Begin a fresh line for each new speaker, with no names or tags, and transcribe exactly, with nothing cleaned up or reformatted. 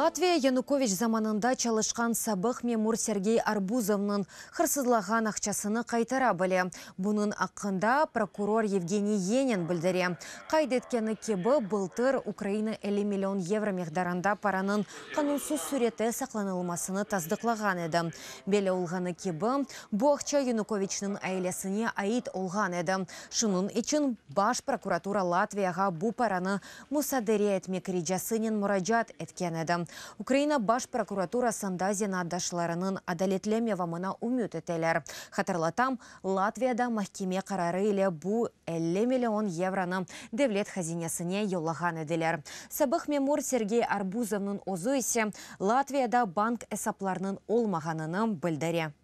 Latviya Yanukoviç zamanında çalışqan sabıq memur Sergey Arbuzovnıñ hırsızlağan aqçasını qaytara bile. Bunıñ aqqında prokuror Yevgeniy Yenin bildire. Qayd etkeni kibi, bıltır Ukraina elli million yevro miqdarında paranıñ qanunsız sürette saqlanılmasını tasdıqlağan edi. Belli olğanı kibi, bu aqça Yanukoviçniñ ailesine ait olğan edi. Şunıñ içün baş prokuratura Latviyağa bu paranı musadere etmek ricasınen muracaat etken edi. Ukraina baş prokuraturasında zenaatdaşlarınıñ adaletli mevamına ümüt eteler. Hatırlatam, Latviyada mahkeme qararı ile bu elli million yevronı devlet hazinesine yollağan ediler. Sabıq memur Sergey Arbuzovnıñ özü ise Latviyada bank esaplarınıñ olmağanını bildire.